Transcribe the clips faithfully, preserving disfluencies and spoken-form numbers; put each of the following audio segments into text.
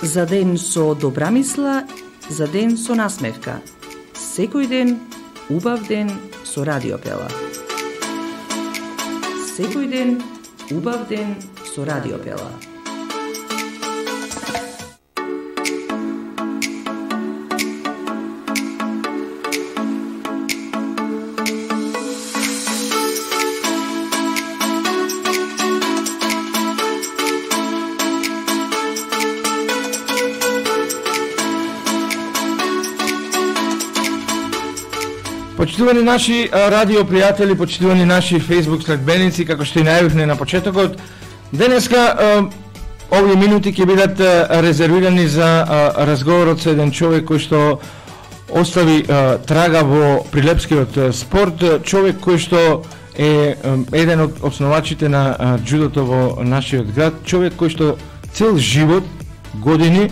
За ден со добра мисла, за ден со насмевка. Секој ден, убав ден со Радио Пела. Секој ден, убав ден со Радио Пела. Почитувани наши радио пријатели, почитувани наши Facebook следбеници, како што и најавивме на почетокот, денеска овие минути ќе бидат резервирани за разговорот со еден човек кој што остави трага во прилепскиот спорт, човек кој што е еден од основачите на џудото во нашиот град, човек кој што цел живот, години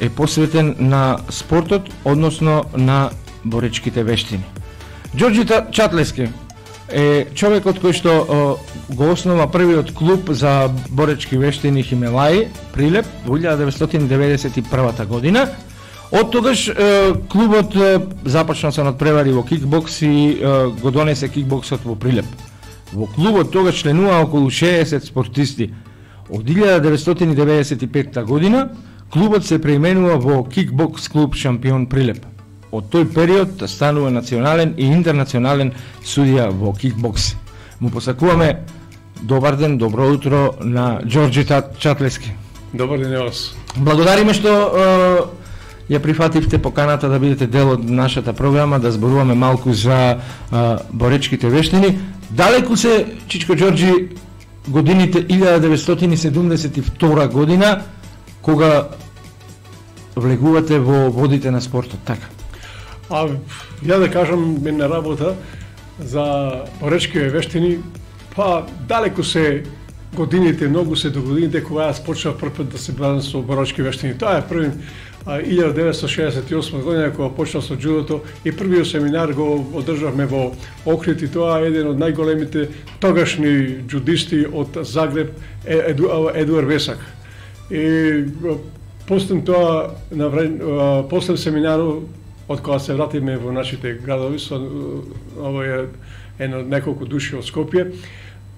е посветен на спортот, односно на боречките вештини. Ѓорѓи Чатлески е човекот кој што о, го основа првиот клуб за боречки вештини Химелаи, Прилеп, во илјада деветстотини деветдесет и прва година. Од тогаш е, клубот е, започна со надпревари во кикбокс и е, го донесе кикбоксот во Прилеп. Во клубот тогаш членува околу шеесет спортисти. Од илјада деветстотини деветдесет и петта година клубот се преименува во Кикбокс клуб Шампион Прилеп. Од тој период станува национален и интернационален судија во кикбокс. Му посакуваме добар ден, добро утро на Ѓорѓи Чатлески. Добар ден на вас. Благодариме што е, ја прифативте поканата да бидете дел од нашата програма, да зборуваме малку за е, боречките вештини. Далеку се, Чичко Ѓорѓи, годините илјада деветстотини седумдесет и втора година, кога влегувате во водите на спортот, така? А ја да кажам една работа за боречките вештини, па далеку се годините, многу се до годините кога јас почнав прв пат да се бавам со боречки вештини. Тоа е први илјада деветстотини шеесет и осма година кога почнав со џудото и првиот семинар го одржавме во Охрид и тоа е еден од најголемите тогашни џудисти од Загреб, Еду, Едуар Весак. И после тоа на време, после семинарот од кога се вратиме во нашите градови со овој едно неколку души од Скопје,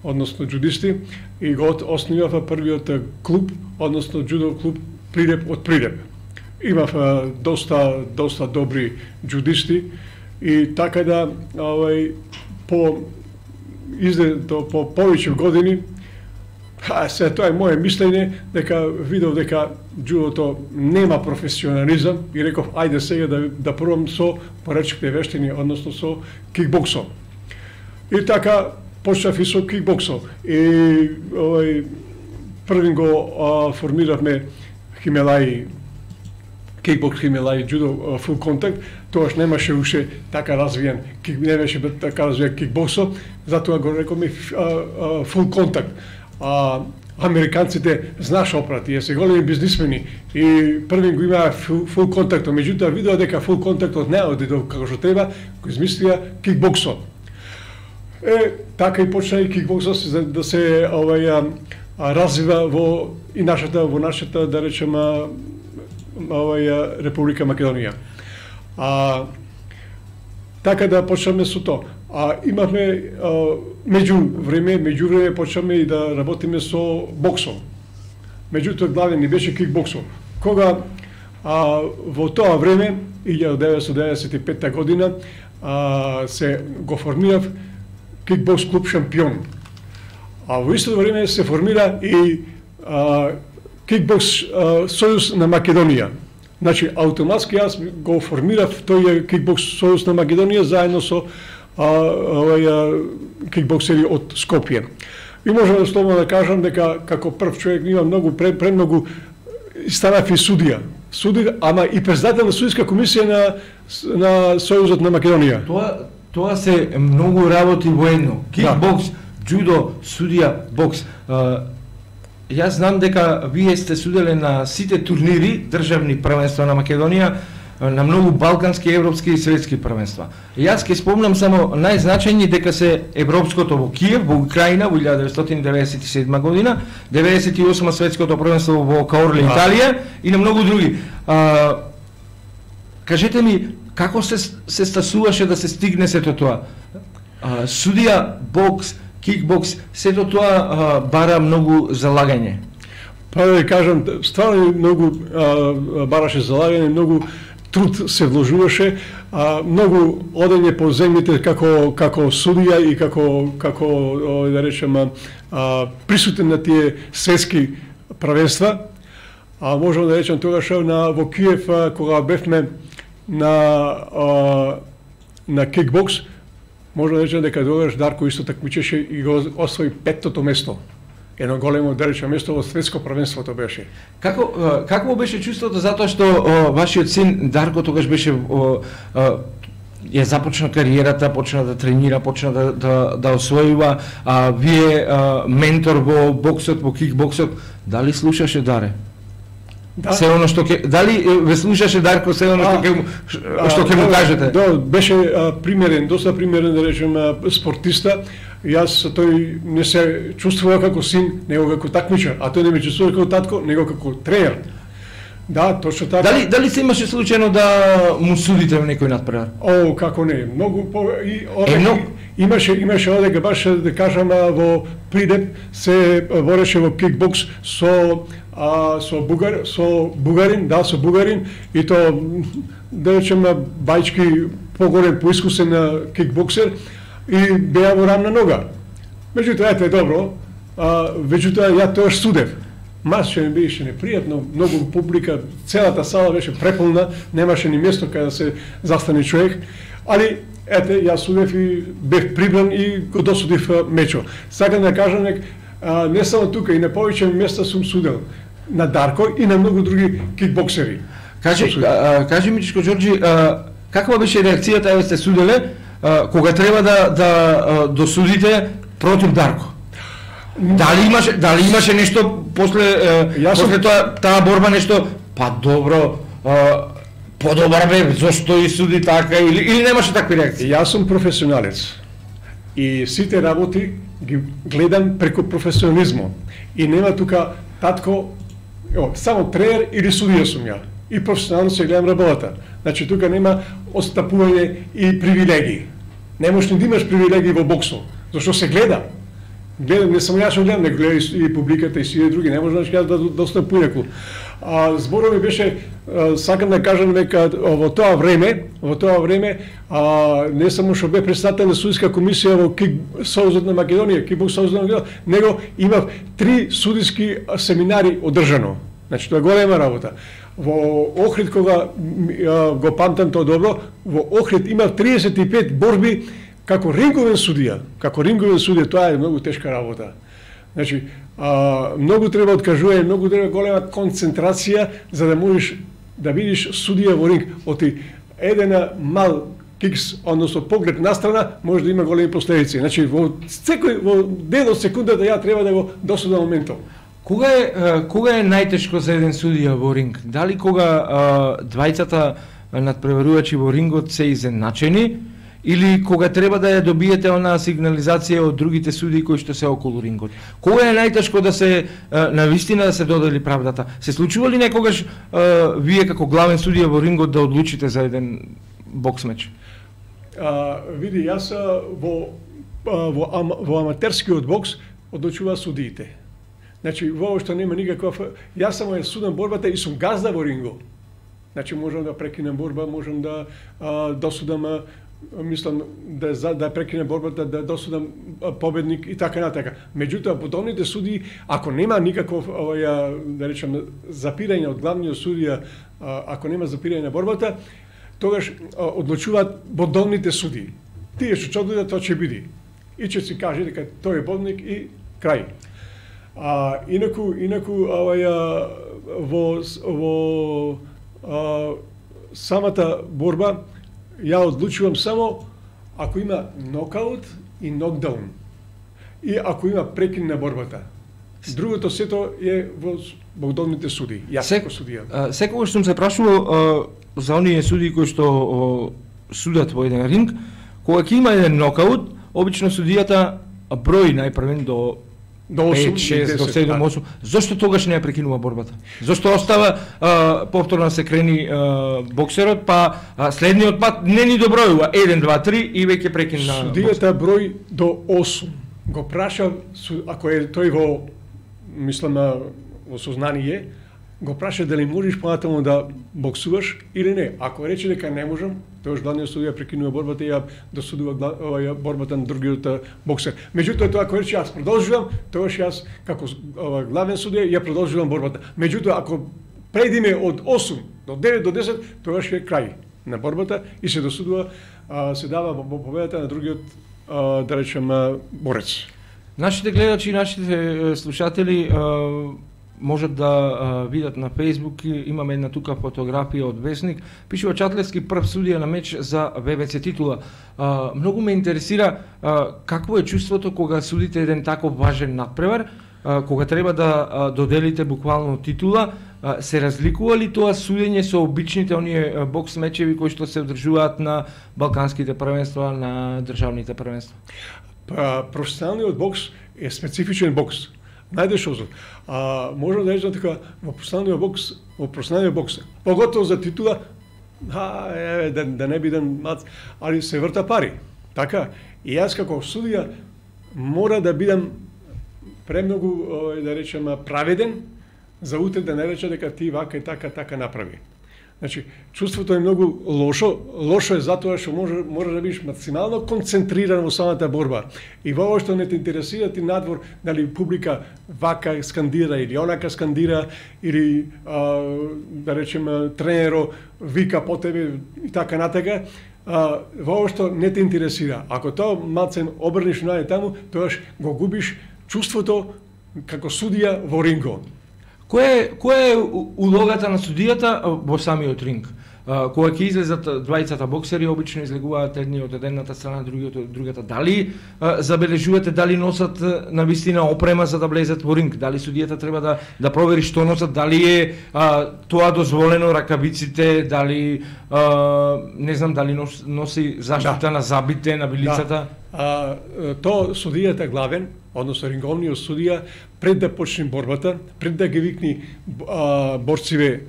односно џудисти, и го основава првиот клуб, односно џудо клуб Прилеп од Прилеп. Имав доста доста добри џудисти и така да овој по изде по повеќе години, а се тоа е моје мислење, дека видов дека џудото нема професионализам и реков ајде сега да да пробам со боречките вештини, односно со кикбоксот. И така почнав и со кикбоксот. И овој првин го а, формиравме Химелаи, кикбокс Химелаи џудо фул контакт, тоаш немаше уште така развиен, кик не беше така развиен кикбоксот, затоа го рековме фул контакт. А американците знаеш опрати, е се големи бизнисмени и првин го имаа фул, фул контакт, меѓутоа видоа дека фул контактот не оди до како што треба, го измислија кикбоксот. Е, така и почна и кикбоксот да се овај развива во и нашата во нашата да речеме овај Република Македонија. А така да почнеме со тоа. А имавме а, меѓу време, меѓу време почнеме и да работиме со боксом. Меѓутоа главен ни беше кикбоксом. Кога а, во тоа време, илјада деветстотини деветдесет и петта година, а, се го формирав кикбокс клуб Шампион. А во истото време се формира и а, кикбокс а, сојуз на Македонија. Значи, автоматски јас го формирав тој кикбокс сојуз на Македонија заедно со а, овај кикбоксери од Скопје. И можам да слободно да кажам дека како прв човек има многу премногу станав и судија. Судија, ама и председател на судиска комисија на на Сојузот на Македонија. Тоа тоа се многу работи воено. Кикбокс, да. Џудо, судија, бокс. А, јас знам дека вие сте суделе на сите турнири, државни првенства на Македонија. на многу балкански, европски и светски првенства. Јас ќе спомнам само најзначајни дека се европското во Киев, во Украина во илјада деветстотини деветдесет и седма година, деветдесет и осма светското првенство во Каорле, Италија и на многу други. А, кажете ми, како се се стасуваше да се стигне сето тоа? А, судија, бокс, кикбокс, сето тоа а, бара многу залагање. Па да кажам, стварно многу а, бараше залагање, многу труд се вложуваше, а, многу одење по земјите како како судија и како како да речеме а, присутен на тие светски првенства. А можам да речем тогаш на во Киев а, кога бевме на а, на кикбокс, можам да речем дека тогаш Дарко исто такмичеше и го освои петтото место. Едно големо да речем место во светско првенството беше. Како какво беше чувството затоа што о, вашиот син Дарко тогаш беше о, о, ја започна кариерата, почна да тренира, почна да да, да освојува, а вие а, ментор во боксот, во кикбоксот, дали слушаше Даре? Да. Се оно што ќе дали ве слушаше Дарко се оно што ќе што ќе му кажете? Да, беше а, примерен, доста примерен да речем а, спортиста. Јас тој не се чувствува како син, него како такмичар, а тој не ме чувствува како татко, него како тренер. Да, точно така. Дали дали се имаше случајно да му судите во некој надпревар? О, како не, многу по и е, но... имаше имаше одека баш да кажам во Придеп се бореше во кикбокс со а, со бугар со бугарин, да, со бугарин и то да речеме бајчки поголем, поискусен кикбоксер и беа во рамна нога. Меѓутоа, ете, добро, а, меѓутоа, ја тоаш судев. Мас што ми беше непријатно, многу публика, целата сала беше преполна, немаше ни место каде да се застане човек, али, ете, ја судев и бев прибран и го досудив мечо. Сакам да кажам, нек, а, не само тука, и на повеќе места сум судел. На Дарко и на многу други кикбоксери. Кажи, а, кажи ми, Чичко Ѓорѓи, а, каква беше реакцијата, еве сте суделе, а, кога треба да, да а, досудите против Дарко? Дали имаше дали имаше нешто после е, после тоа таа борба нешто па добро е, подобар бе зошто и суди така или или немаше такви реакции? Јас сум професионалец и сите работи ги гледам преку професионализмот и нема тука татко о, само тренер или судија сум ја и професионално се гледам работата. Значи тука нема отстапување и привилегии. Не можеш ни да имаш привилегии во боксот, зашто се гледа. Гледам, не само јас што гледам, не гледа и публиката и сите други, не може да кажа да доста поинаку. А зборот ми беше, а, сакам да кажам дека во тоа време, во тоа време, а, не само што бе председател на судиска комисија во Кик Сојузот на Македонија, Кикбокс Сојузот на Македонија, него имав три судиски семинари одржано. Значи тоа е голема работа. Во Охрид кога а, го памтам тоа добро, во Охрид имав триесет и пет борби како ринговен судија, како ринговен судија, тоа е многу тешка работа. Значи, а, многу треба откажување, многу треба голема концентрација за да можеш да видиш судија во ринг. Оти еден мал кикс, односно поглед настрана, може да има големи последици. Значи, во секој во дел од секундата ја треба да го досудам моментот. Кога е кога е најтешко за еден судија во ринг? Дали кога а, двајцата надпреварувачи во рингот се изеначени, или кога треба да ја добиете онаа сигнализација од другите судии кои што се околу рингот? Кога е најтешко да се навистина да се додели правдата? Се случува ли некогаш а, вие како главен судија во рингот да одлучите за еден бокс меч? А, види, јас во во, ам, во аматерскиот бокс одлучува судиите. Значи, воопшто нема никаква... Јас само ја судам борбата и сум газда во рингот. Значи, можам да прекинем борба, можам да а, досудам, а, мислам, да, за, да прекинем борбата, да досудам а, победник и така натака. Меѓутоа, подобните судии, ако нема никаков, овоја, да речем, запирање од главниот судија, а, ако нема запирање на борбата, тогаш а, одлучуваат бодовните судии. Тие што ќе одидат, тоа ќе биде. И ќе си каже дека тој е бодник и крај. А инаку инаку оваја во во а, самата борба ја одлучувам само ако има нокаут и нокдаун и ако има прекин на борбата. Другото сето е во богодовните суди. Јас како судија. Секогаш сум се прашувал за оние судии кои што о, судат во еден ринг, кога ќе има еден нокаут, обично судијата брои најпрвен до до пет, шест, до седум, осум. Зошто тогаш не ја прекинува борбата? Зошто остава а, повторно се крени а, боксерот, па а, следниот пат не ни добројува еден, два, три и веќе прекина. Судијата број до осум. Го праша, ако е тој во, мислам, во сознание, го праша дали можеш понатаму да боксуваш или не. Ако рече дека не можам, тоаш главниот судија прекинува борбата и ја досудува оваа борбата на другиот боксер. Меѓутоа тоа ако рече јас продолжувам, тоаш јас како главен судија ја продолжувам борбата. Меѓутоа ако преидиме од осум до девет до десет, тоаш е крај на борбата и се досудува, се дава победата на другиот, да речем, борец. Нашите гледачи и нашите слушатели можат да а, видат на Facebook, имаме една тука фотографија од весник, пишува Чатлевски прв судија на меч за Ве Ве Це титула. А, многу ме интересира а, какво е чувството кога судите еден таков важен надпревар, а, кога треба да а, доделите буквално титула, а, се разликува ли тоа судење со обичните оние бокс мечеви кои што се одржуваат на балканските првенства, на државните првенства? Па, професионалниот бокс е специфичен бокс. Најдеш озор. А можам да речам дека во професионалниот бокс, во професионалниот бокс, поготово за титула, а еве да, да не бидам мац, али се врта пари. Така, и јас како судија мора да бидам премногу, да речем, праведен за утре да не рече дека ти вака и така така направи. Значи, чувството е многу лошо, лошо е затоа што може може да бидеш максимално концентриран во самата борба. И во ова што не те интересира ти надвор, дали публика вака скандира или онака скандира, или а, да речеме тренеро вика по тебе и така натака, а, во ова што не те интересира. Ако тоа малцен обрнеш најде таму, тоаш го губиш чувството како судија во рингот. Која е, која е улогата на судијата во самиот ринг? Кога ќе излезат двајцата боксери, обично излегуваат едниот од едната страна, другиот од другата. Дали а, забележувате дали носат на вистина опрема за да влезат во ринг? Дали судијата треба да да провери што носат? Дали е а, тоа дозволено, ракавиците, дали а, не знам дали нос, носи заштита да. на забите, на билицата? Да. А, тоа судијата главен, односно ринговниот судија, пред да почне борбата, пред да ги викни а, борциве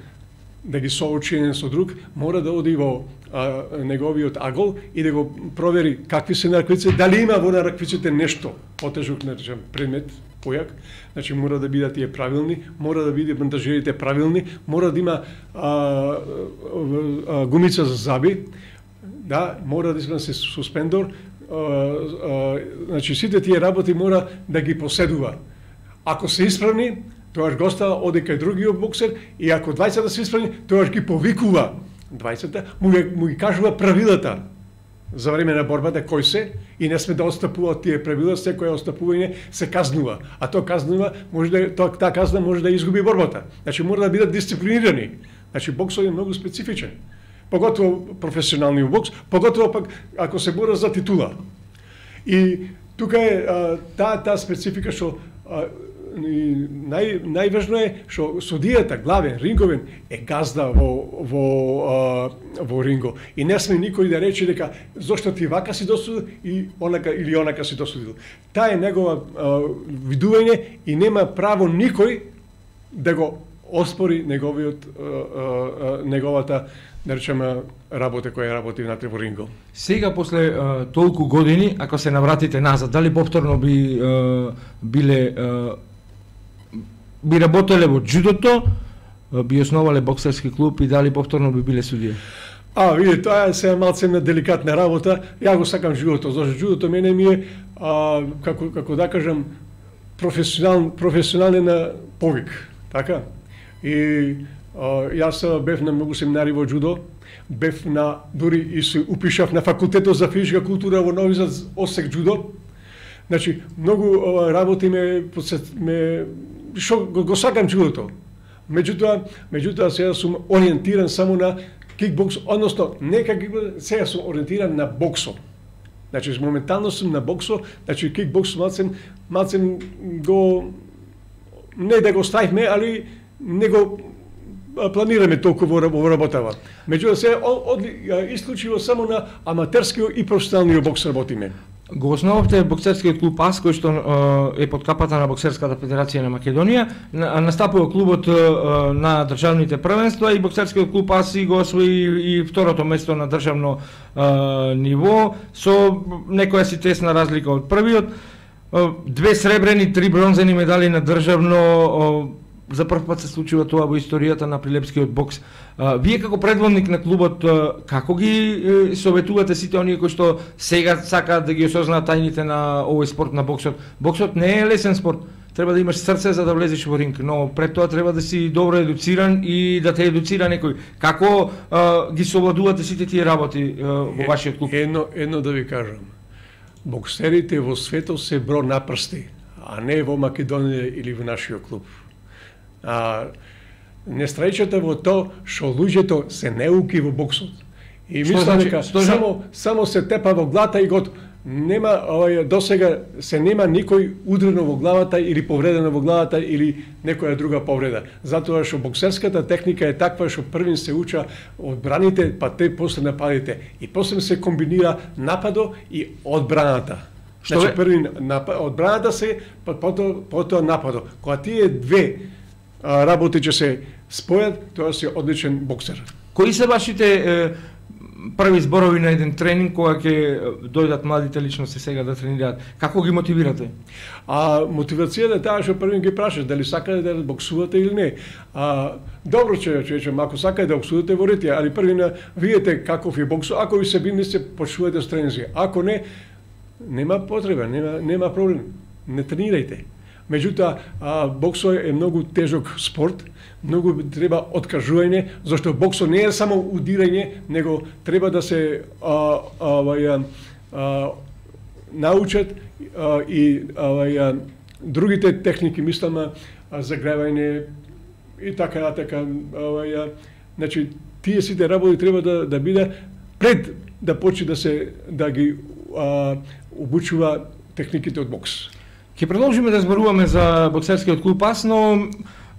да ги соочи еден со друг, мора да оди во а, неговиот агол и да го провери какви се на раквиците, дали има во на раквиците нешто потежок, на предмет, појак, значи мора да бидат тие правилни, мора да биде бандажерите правилни, мора да има а, а, а, гумица за заби, да, мора да има се суспендор, а, а, значи сите тие работи мора да ги поседува. Ако се исправни, тоаш го става, оди кај другиот боксер, и ако двајцата се исправни, тоаш ги повикува двајцата, му, му ги кажува правилата за време на борбата кој се, и не сме да отстапуваат тие правила, секој отстапување се казнува. А тоа казнува, може да тоа таа казна може да изгуби борбата. Значи мора да бидат дисциплинирани. Значи боксот е многу специфичен. Поготово професионалниот бокс, поготово пак ако се бора за титула. И тука е таа таа специфика што и нај најважно е што судијата главен ринговен е газда во во а, во ринго, и не сме никој да рече дека зошто ти вака си досудил и онака или онака си досудил. Таа е негова а, видување и нема право никој да го оспори неговиот а, а, неговата, да речеме, работа која работи внатре во ринго. Сега после а, толку години, ако се навратите назад, дали повторно би а, биле а, би работеле во џудото, би основале боксерски клуб и дали повторно би биле судија? А, види, тоа е се малце на деликатна работа. Ја го сакам џудото, зашто џудото мене ми е а, како како да кажам професионален професионален повик, така? И а, јас бев на многу семинари во џудо, бев на дури и се упишав на факултетот за физичка култура во Нови Зад, осек џудо. Значи, многу а, работи ме ме што го, го сакам џудото. Меѓутоа, меѓутоа сега сум ориентиран само на кикбокс, односно не како сега сум ориентиран на боксо. Значи моментално сум на боксо, значи кикбокс малцен малцен го не да го ставиме, али не го планираме толку во работава. Меѓутоа се од, исклучиво само на аматерскиот и професионалниот бокс работиме. Го основавте боксерскиот клуб АС, кој што е под капата на Боксерската федерација на Македонија, настапува клубот на државните првенства и боксерскиот клуб АС и го освои и второто место на државно ниво со некоја си тесна разлика од првиот. Две сребрени, три бронзени медали на државно. За прв пат се случува тоа во историјата на прилепскиот бокс. Вие како предводник на клубот, како ги советувате сите оние кои што сега сакаат да ги осознаат тајните на овој спорт на боксот? Боксот не е лесен спорт. Треба да имаш срце за да влезеш во ринг, но пред тоа треба да си добро едуциран и да те едуцира некој. Како а, ги совладувате сите тие работи а, во вашиот клуб? Едно, едно да ви кажам. Боксерите во светот се бро на прсти, а не во Македонија или во нашиот клуб. А, нестрајчата во тоа што луѓето се неуки во боксот. И мислам дека само само се тепа во глата и готово. Нема овај досега се нема никој удрено во главата или повредено во главата или некоја друга повреда. Затоа што боксерската техника е таква што првин се уча одбраните, па те после нападите и после се комбинира нападо и одбраната. Што значи првин напад, одбраната се, па потоа потоа нападо. Кога тие две работи ќе се спојат, тоа си одличен боксер. Кои се вашите е, први зборови на еден тренинг кога ќе дојдат младите личности сега да тренираат? Како ги мотивирате? А мотивацијата е таа што првин ги прашаш дали сакате да боксувате или не. А добро че че ако сакате да боксувате ворите, али првин видите каков е бокс, ако ви се бини се почнувате с тренинзи. Ако не, нема потреба, нема нема проблем. Не тренирајте. Меѓутоа, боксот е многу тежок спорт, многу треба откажување, зашто боксот не е само удирање, него треба да се а, а, а, научат а, и а, другите техники, мислам, загревање и така натака. Значи, тие сите работи треба да, да биде пред да почне да се да ги а, обучува техниките од бокс. Ќе продолжиме да зборуваме за боксерскиот клуб АС, но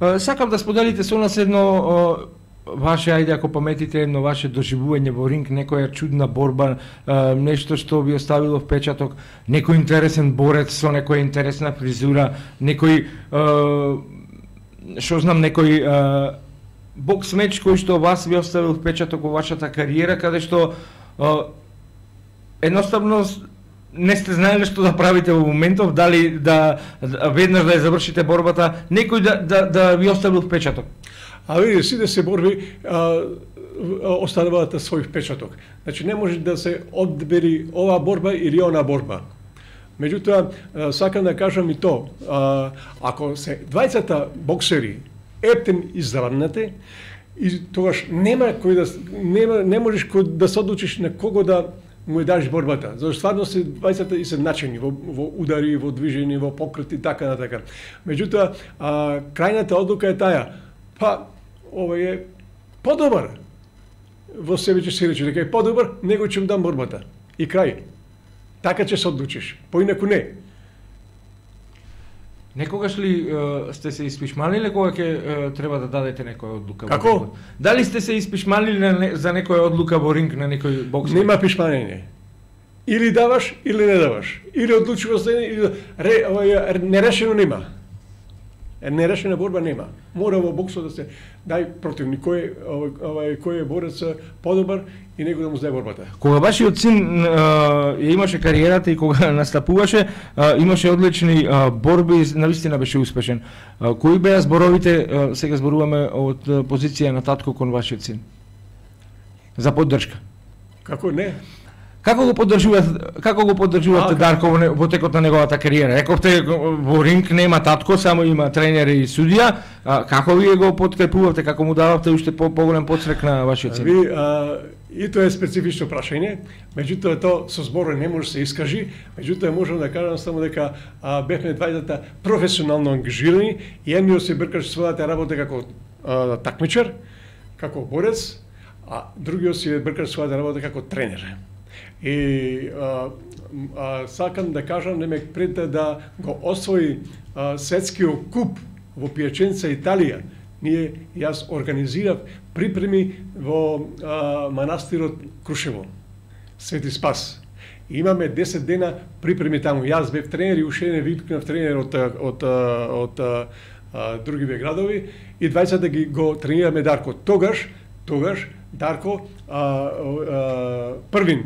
е, сакам да споделите со нас едно е, ваше, ајде ако паметите, едно ваше доживување во ринг, некоја чудна борба, е, нешто што ви оставило впечаток, некој интересен борец со некоја интересна фризура, некој, е, што знам, некој е, бокс меч кој што вас ви оставил впечаток во вашата кариера, каде што е, едноставно не сте знаеле што да правите во моментов, дали да, да веднаш да ја завршите борбата, некој да, да, да ви оставил впечаток? А види, сите се борби а, оставуваат свој впечаток. Значи не може да се одбери ова борба или она борба. Меѓутоа, сакам да кажам и то, а, ако се двајцата боксери ептен изравнате, и тогаш нема кој да нема не можеш кој да се одлучиш на кого да му даш борбата. Зашто стварно се двајцата и се начини во, во удари, во движење, во покрети, така на така. Меѓутоа, а, крајната одлука е таа. Па, ова е подобар. Во себе ќе се рече дека е подобар, него ќе му дам борбата. И крај. Така ќе се одлучиш. Поинаку не. Некогаш ли е, сте се испишмалиле кога ќе е, треба да дадете некоја одлука? Како? Во ринг? Дали сте се испишмалиле не, за некоја одлука во ринг на некој бокс? Нема пишмање. Или даваш, или не даваш. Или одлучуваш се, или ре, овај, нерешено нема. Нерешена борба нема. Мора во боксот да се дај противник кој овај кој е борец подобар и него да му даде борбата. Кога вашиот син ја имаше кариерата и кога настапуваше, а, имаше одлични а, борби, навистина беше успешен. А, кои беа зборовите, а, сега зборуваме од позиција на татко кон вашиот син? За поддршка. Како не? Како го поддржувате, како го поддржувате Дарко во, во текот на неговата кариера? Рековте во ринг нема татко, само има тренер и судија. А, како вие го подкрепувавте, како му дававте уште по поголем подстрек на вашиот син? Ви, а, и тоа е специфично прашање, меѓутоа тоа со зборови не може се искажи, меѓутоа можам да кажам само дека а, бевме двајцата професионално ангажирани и едниот се бркаше својата работа како а, такмичар, како борец, а другиот се бркаше својата работа како тренер. И а, а, сакам да кажам, немек пред да го освои а, светскиот куп во Пијаченца, Италија, ние јас организирав припреми во а, манастирот Крушево, Свети Спас. Имаме десет дена припреми таму. Јас бев тренер и уште не викнав тренер од од од, од а, другиве градови и двајцата ги го тренираме Дарко. Тогаш, тогаш Дарко а, а, првин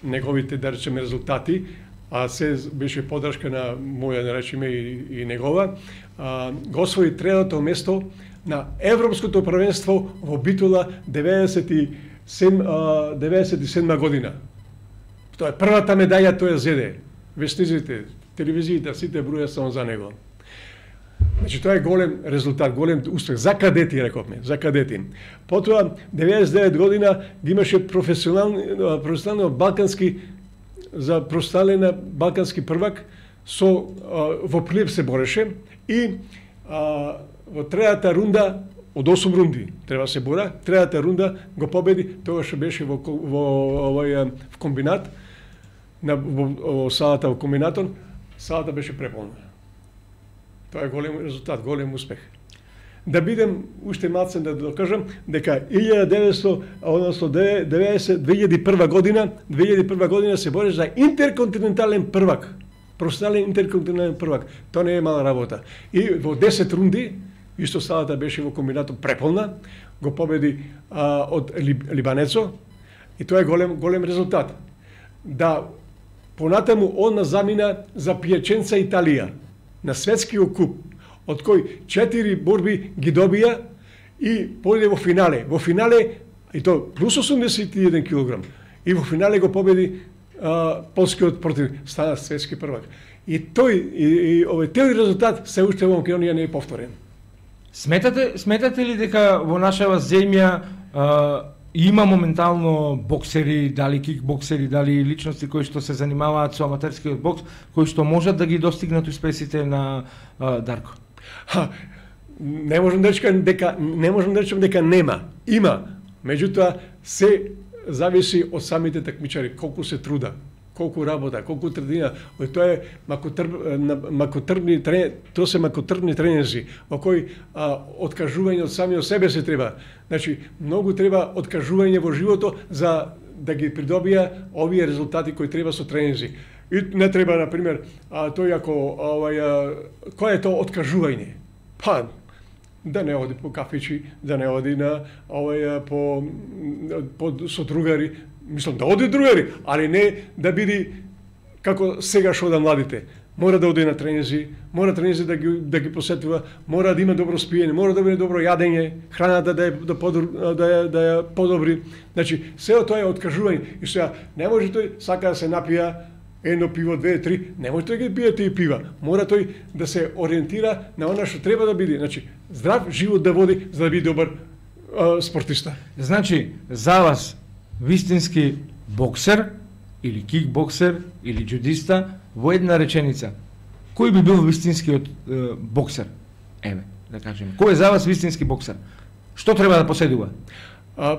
неговите, да речеме, резултати, а се беше подршка на моја, да речеме, и, и негова, а, го освои третото место на Европското првенство во Битола деветдесет и седма година. Тоа е првата медаја, тој ја зеде. Вестниците, телевизиите, сите броја само за него. Значи, тоа е голем резултат, голем успех за кадети, рековме, за кадети. Потоа, деветдесет и девет година ги имаше професионални, професионално балкански, за професионален балкански првак, со, а, во Прилеп се бореше и а, во третата рунда, од осум рунди треба се бора, третата рунда го победи, тогаш беше во, во, овој, в комбинат, на, во, во салата во комбинатон, салата беше преполна. Тоа е голем резултат, голем успех. Да бидем уште малце да докажам дека илјада деветстотини, односно деветдесет, две илјади и прва година, две илјади и прва година се бореше за интерконтинентален првак. Професионален интерконтинентален првак. Тоа не е мала работа. И во десет рунди, исто салата беше во комбинатот преполна, го победи а, од Либанецо и тоа е голем голем резултат. Да понатаму он замина за Пијаченца, Италија, на светскиот куп, од кој четири борби ги добија и појде во финале. Во финале, и то плюс осумдесет и еден килограм, и во финале го победи а, полскиот противник, стана светски првак. И тој, и, и овој тој резултат се уште во Македонија не е повторен. Сметате, сметате ли дека во нашава земја а, има моментално боксери, дали кикбоксери, дали личности кои што се занимаваат со аматерскиот бокс, кои што можат да ги достигнат успесите на а, Дарко? Ха, не можам да речам дека не можам да речам дека нема. Има, меѓутоа се зависи од самите такмичари, колку се труда, колку работа, колку трдина. Тоа е макотрпни трен, тоа се макотрпни тренинзи, во кои а, откажување од самиот себе се треба. Значи, многу треба откажување во живото за да ги придобија овие резултати кои треба со тренинзи. И не треба, на пример, а, тој ако овај кој е тоа откажување? Па да не оди по кафичи, да не оди на овај по по со другари, мислам да оди другари, али не да биде како сега што да младите. Мора да оди на тренинзи, мора тренинзи да ги да ги посетува, мора да има добро спиење, мора да биде добро јадење, храната да е да подобри, да ја да ја подобри. Значи, сео тоа е откажување. И сега не може тој сака да се напија едно пиво, две, три, не може тој да пие тие пива. Мора тој да се ориентира на она што треба да биде. Значи, здрав живот да води за да биде добар а, спортиста. Значи, за вас вистински боксер или кикбоксер или джудиста во една реченица, кој би бил вистинскиот е, боксер? Еве, да кажеме. Кој е за вас вистински боксер? Што треба да поседува? А,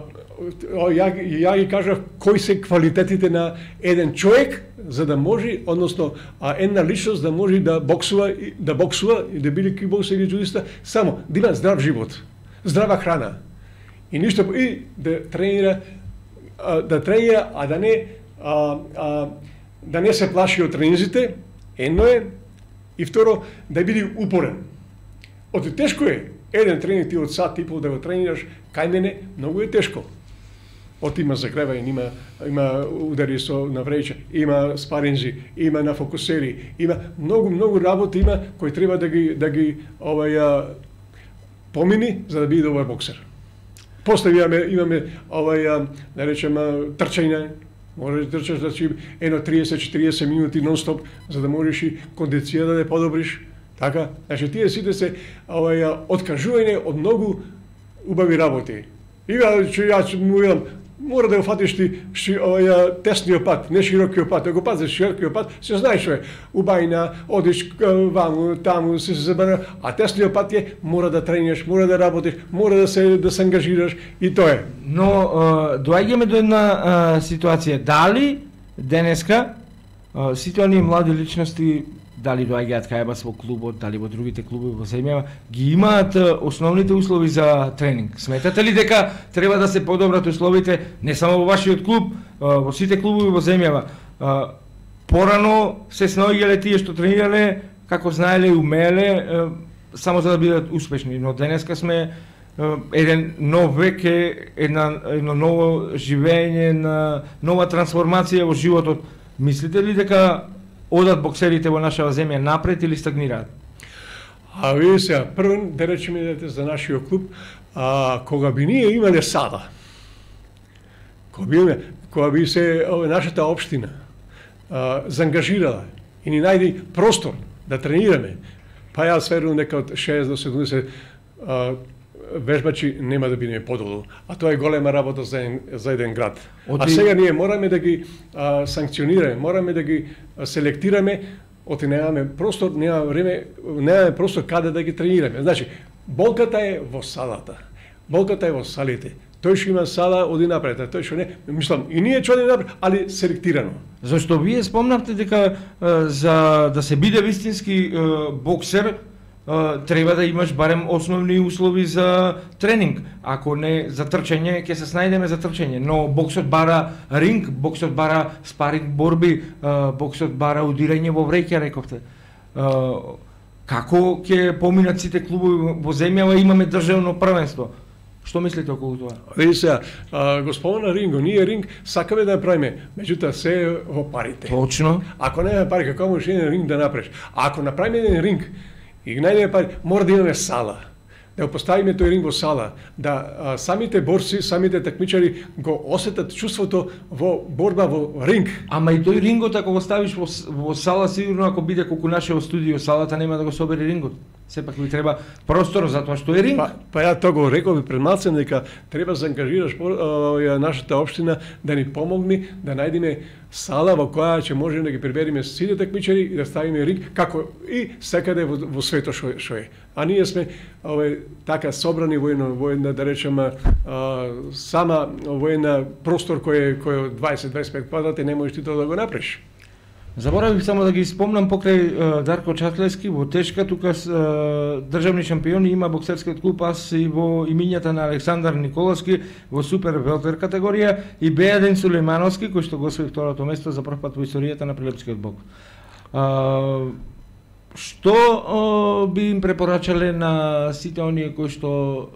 ја, ја ги кажав кои се квалитетите на еден човек за да може, односно а, една личност да може да боксува, да боксува и да биде кикбоксер или джудиста, само да има здрав живот, здрава храна и ништо и да тренира, а, да тренира, а да не а, а, да не се плаши од тренинзите, едно е, и второ да биде упорен. Оти тешко е. Еден тренинг ти од сат и пол да го тренираш, кај мене многу е тешко. От има загревање, има има удари со навреće, има спаринзи, има на фокусери, има многу многу работи има кои треба да ги да ги овај помини за да биде добар боксер. После имаме имаме овај да речеме трчање, можеш да трчаш значи едно триесет до четириесет минути нон-стоп за да можеш и кондиција да ја подобриш. Така, значи тие сите се овај откажување од многу убави работи. И ја му видам, мора да го фатиш ти ши, овај тесниот пат, не широкиот пат, да го пазиш широкиот пат, се знаеш што е. Убајна, одиш ваму, таму, се забара, а тесниот пат е мора да тренираш, мора да работиш, мора да се да се ангажираш и тоа е. Но доаѓаме до една а, ситуација, дали денеска а, сите оние млади личности дали доаѓаат кај вас во клубот, дали во другите клубови во земјава, ги имаат основните услови за тренинг. Сметате ли дека треба да се подобрат условите не само во вашиот клуб, во сите клубови во земјава? Порано се снаоѓале тие што тренирале, како знаеле и умееле, само за да бидат успешни, но денеска сме еден нов век, една, едно ново живење, на нова трансформација во животот. Мислите ли дека одат боксерите во нашава земја напред или стагнираат? А ви сега, прво да речеме дете за нашиот клуб, а, кога би ние имале сада, кога би, кога би се ова, нашата општина а, заангажирала и ни најди простор да тренираме, па јас верувам дека од шеесет до седумдесет а, вежбачи нема да бидеме подолу, а тоа е голема работа за еден, за еден град. Оти... А сега ние мораме да ги а, санкционираме, мораме да ги а, селектираме, оти немаме простор, немаме време, немаме простор каде да ги тренираме. Значи, болката е во салата. Болката е во салите. Тој што има сала оди напред, а тој што не, мислам, и ние што оди напред, али селектирано. Зашто вие спомнавте дека а, за да се биде вистински а, боксер, Uh, треба да имаш барем основни услови за тренинг. Ако не за трчање, ќе се снајдеме за трчање, но боксот бара ринг, боксот бара спаринг борби, uh, боксот бара удирање во вреќа, рековте. Uh, како ќе поминат сите клубови во земјава, имаме државно првенство? Што мислите околу тоа? Види се, го спомена ринго, ние ринг сакаме да направиме, меѓутоа се во парите. Точно. Ако немаме пари, како можеш еден ринг да направиш? А ако направиме еден ринг, и најдеме пари, мора да имаме сала. Да го поставиме тој ринг во сала, да а, самите борци, самите такмичари го осетат чувството во борба во ринг. Ама и тој рингот ако го ставиш во, во сала, сигурно ако биде колку нашево студио, салата нема да го собере рингот. Сепак ви треба простор затоа што е ринг. Па, па ја тоа го реков и пред малце дека треба да заангажираш а, нашата општина да ни помогне да најдеме сала во која ќе можеме да ги прибериме сите такмичари и да ставиме ринг како и секаде во, во светот што, што е. А ние сме ове така собрани во едно во една да речеме а, сама во една простор кој е кој е дваесет до дваесет и пет квадрати, не можеш ти тоа да го направиш. Заборавив само да ги спомнам покрај uh, Дарко Чаклевски во тешка, тука uh, државни шампиони има боксерскиот клуб, аз и во имињата на Александар Николовски во супер велтер категорија и Бејаден Сулеймановски кој што го освои второто место за прв пат во историјата на Прилепскиот бокс. Uh, што uh, би им препорачале на сите оние кои што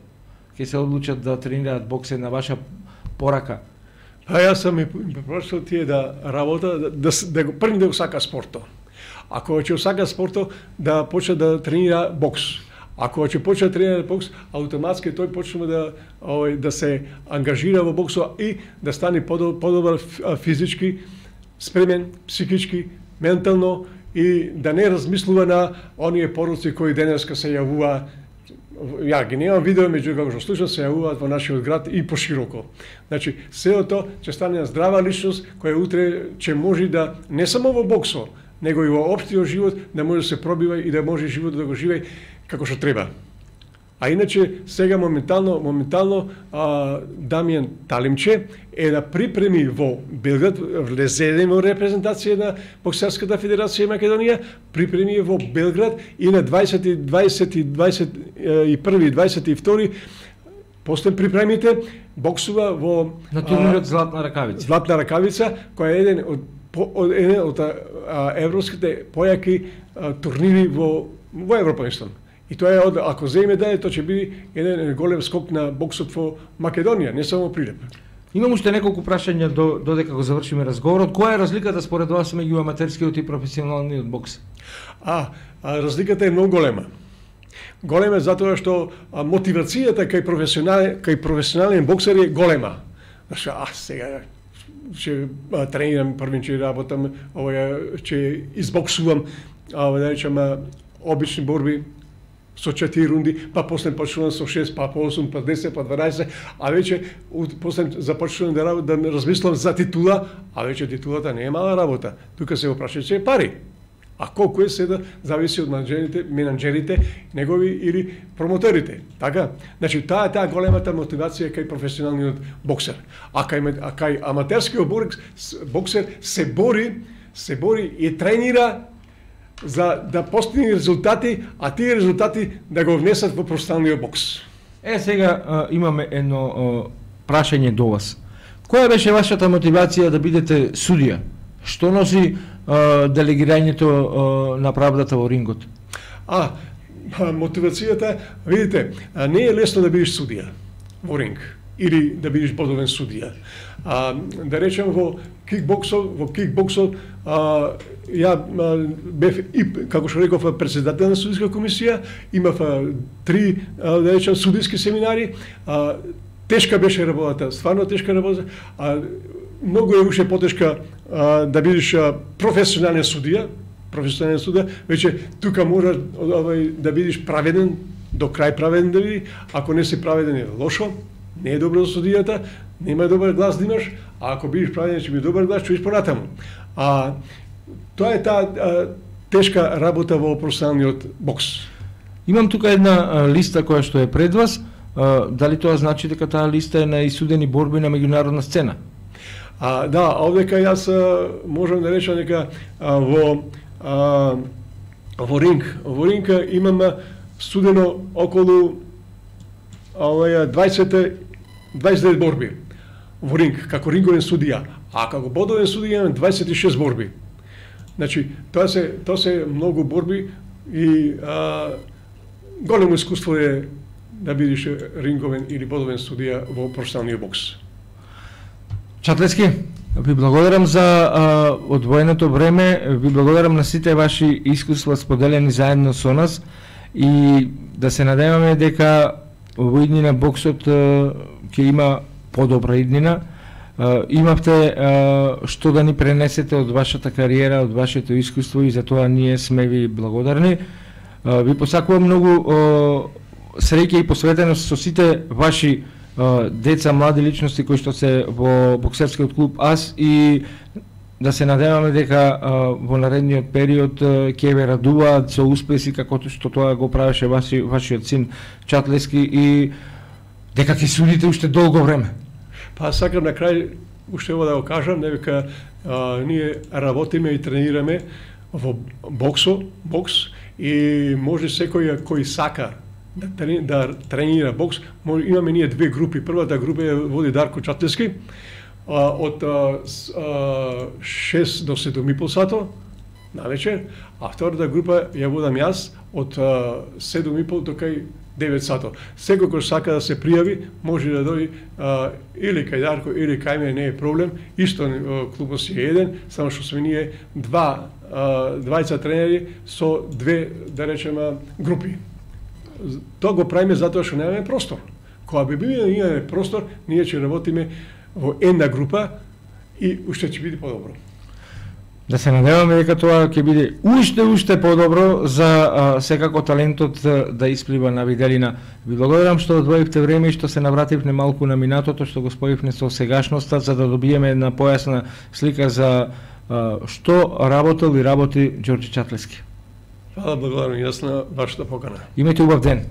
ќе се одлучат да тренираат бокс на ваша порака? А јас сам и препорачал тие да работа, да, да, да го први да го сака спорто. Ако ќе го сака спорто, да почне да тренира бокс. Ако ќе почне да тренира бокс, автоматски тој почнува да овој да се ангажира во боксот и да стане подобар физички спремен, психички, ментално и да не размислува на оние пороци кои денеска се јавува. Ја ги немам видео, меѓу како што слушам се јавуваат во нашиот град и пошироко. Значи, сето тоа ќе стане здрава личност која утре ќе може да не само во боксот, него и во општиот живот да може да се пробива и да може животот да го живее како што треба. А иначе сега моментално моментално а, Дамјан Талимче е да припреми во Белград, влезе во репрезентација на боксерската федерација Македонија, припреми во Белград и на дваесети, дваесети, дваесет и први, дваесет и втори после припремите боксува во на турнирот Златна ракавица. Златна ракавица, која е еден од по, од еден од а, европските појаки а, турнири во во Европа, мислам. И тоа е од ако земе даде, тоа ќе биде еден голем скок на боксот во Македонија, не само Прилеп. Имам уште неколку прашања до додека го завршиме разговорот. Која е разликата според вас меѓу аматерскиот и професионалниот бокс? А, а разликата е многу голема. Голема е затоа што а, мотивацијата кај професионален кај професионален боксер е голема. Зашто а сега ќе тренирам, првин ќе работам, ова ќе избоксувам, а да речеме обични борби со четири рунди, па после почнувам со шест, па по осум, па десет, па дванаесет, а веќе после започнувам да работам, да размислам за титула, а веќе титулата не е мала работа. Тука се опрашаат се пари. А колку е седа зависи од менаџерите, менаџерите, негови или промоторите. Така? Значи таа е таа големата мотивација кај професионалниот боксер. А кај а кај аматерскиот боксер се бори, се бори и тренира за да постигне резултати, а тие резултати да го внесат во професионалниот бокс. Е, сега а, имаме едно а, прашање до вас. Која беше вашата мотивација да бидете судија? Што носи а, делегирањето а, на правдата во рингот? А, мотивацијата, видите, не е лесно да бидеш судија во ринг или да бидеш бодовен судија. А, да речем во кикбоксот, во кикбоксот а, ја а, бев и како што реков претседател на судиска комисија, имав а, три а, да речем судиски семинари, а, тешка беше работата, стварно тешка работа, а многу е уште потешка а, да бидеш а, професионален судија, професионален судија, веќе тука мора овај да бидеш праведен, до крај праведен да биде, ако не си праведен е лошо, не е добро за судијата, нема добар глас да имаш, а ако бидеш праведен ќе биде добар глас, чуиш понатаму. А тоа е таа а, тешка работа во професионалниот бокс. Имам тука една а, листа која што е пред вас. А, дали тоа значи дека таа листа е на исудени борби на меѓународна сцена? А, да, овдека јас а, можам да речам дека а, во а, во ринг, во ринг имам судено околу овај дваесет дваесет и девет борби во ринг како ринговен судија, а како бодовен судија имам дваесет и шест борби. Значи, тоа се тоа се многу борби и а, големо искуство е да бидеш ринговен или бодовен судија во професионалниот бокс. Чатлески, ви благодарам за а, одвоеното време, ви благодарам на сите ваши искуства споделени заедно со нас и да се надеваме дека во иднина боксот а, ќе има подобра иднина. А, имавте а, што да ни пренесете од вашата кариера, од вашето искуство и за тоа ние сме ви благодарни. А, ви посакувам многу а, среќа и посветеност со сите ваши деца, млади личности кои што се во боксерскиот клуб АС и да се надеваме дека во наредниот период ќе ве радуваат со успеси како што тоа го правеше ваши, вашиот син Чатлески и дека ќе судите уште долго време. Па сакам на крај уште ово да го кажам, дека а, ние работиме и тренираме во боксо, бокс и може секој кој сака да, трени, да тренира бокс, може, имаме ние две групи. Првата група е води Дарко Чатлески а, од а, а, шест до седум и пол сато навечер, а втората група ја водам јас од а, седум и пол до кај девет сато. Секој кој сака да се пријави, може да дојде а, или кај Дарко, или кај мене, не е проблем. Исто клубот си е еден, само што сме ние два, а, двајца тренери со две, да речеме, групи. Тоа го правиме затоа што немаме простор. Кога би било да имаме простор, ние ќе работиме во една група и уште ќе биде подобро. Да се надеваме дека тоа ќе биде уште уште подобро за а, секако талентот да исплива на виделина. Ви благодарам што одвоивте време и што се навративме малку на минатото, што го споивме со сегашноста за да добиеме една појасна слика за а, што работел и работи Ѓорѓе Чатлески. Hvala, благодарам јас на вашата покана. Имајте убав ден.